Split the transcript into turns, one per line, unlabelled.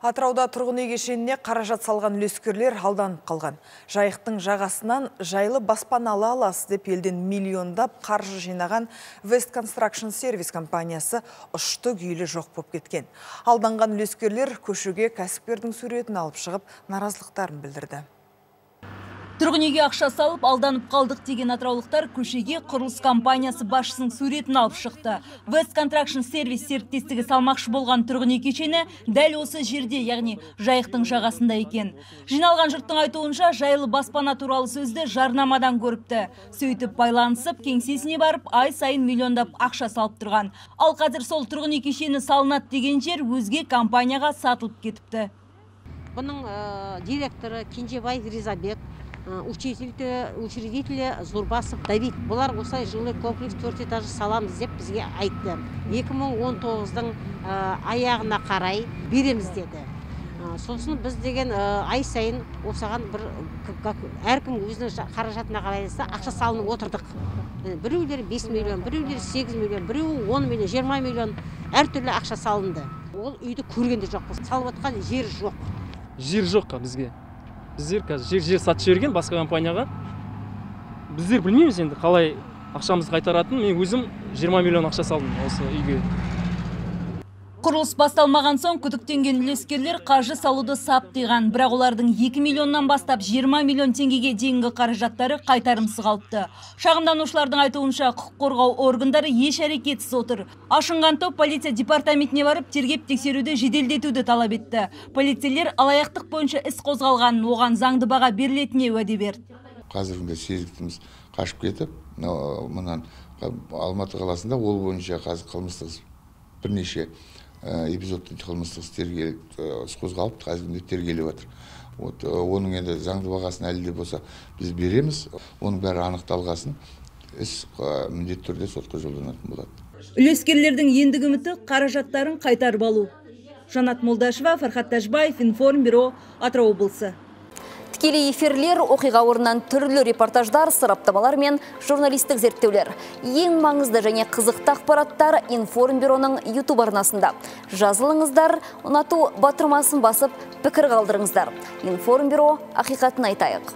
Атырауда тұрғын үй кешеніне қаражат салған үлескерлер алданып қалған. Жайықтың жағасынан жайлы баспаналы аласыз деп елден миллиондап қаржы жинаған West Construction Service компаниясы ұшты күйлі жоқ болып кеткен. Алданған үлескерлер көшеге кәсіпкердің суретін алып шығып, наразылықтарын білдірді.
Тұрғын үйге ақша салып, алданып қалдық деген атыраулықтар көшеге құрылыс компаниясы басшысының суретін алып шықты. West Construction Service серіктестігі салмақшы болған тұрғын үй кешені дәл осы жерде, яғни жайықтың жағасында екен. Жиналған жұрттың айтуынша жайлы баспана туралы сөзді жарнамадан көріпті. Сөйтіп байланысып, кеңсесіне барып, ай сайын миллиондап ақша салып тұрған. Ал қазір сол тұрғын үй кешені салынады деген жер өзге компанияға сатылып кетіпті.
Бұның директоры Кенжебай Ризабек, учредители Зурбасов Давид. Бұлар осылай жилой комплекс 4 этажы саламыз деп бізге айтты. 2019-дың аяғына қарай береміз деді. Сосын біз деген ай сайын осыған бір әркім өзінің қаражатына қарайса ақша салынып отырдық. Біреулері 5 миллион, біреулері 8 миллион, біреуі 10 миллион, 20 миллион әртүрлі ақша салынды. Ол үйді көргенде жоқ. Салып отқан жер жоқ.
Жер жоқ бізге. Біздер қазір жер сатып жіберген басқа компанияға. Біздер білмейміз енді қалай ақшамызды қайтаратын. Мен өзім 20 миллион ақша салдым осы үйге.
Құрылыс басталмаған соң күдіктенген үлескерлер қаржы салуды саптыған. Бірақ олардың 2 миллионнан бастап 20 миллион теңгеге дейінгі қаражаттары қайтарымсыз қалыпты. Шағымданушылардың айтуынша құқық қорғау органдары еш әрекетсіз отыр. Ашынған топ полиция департаментіне барып тергеп тексеруді жеделдетуді талап етті. Полицейлер алаяқтық бойынша іс қозғалғанын, оған заңды баға берілетініне уәде берді.
Қазіргі сезіктіміз қашып кетіп, мұнан Алматы қаласында ол бойынша қазір қылмыстық бірнеше эпизодты қылмыстық іс қозғалып, қазіргі тергеліп жатыр. Оның енді заңды бағасын әлі де болса біз береміз. Оның бәрі анықталғасын іс міндетті түрде сотқа жолданатын болады.
Үлескерлердің ендігі үміті қаражаттарын қайтарып алу. Жанат Молдашева, Фархат Тажбаев, Информбюро, Атырау облысы.
Тікелей эфирлер, оқиға орнынан түрлі репортаждар, сараптамалар мен журналистік зерттеулер. Ең маңызды және қызықты ақпараттар Информбюроның YouTube арнасында. Жазылыңыздар, ұнату батырмасын басып, пікір қалдырыңыздар. Информбюро, ақиқатын айтайық.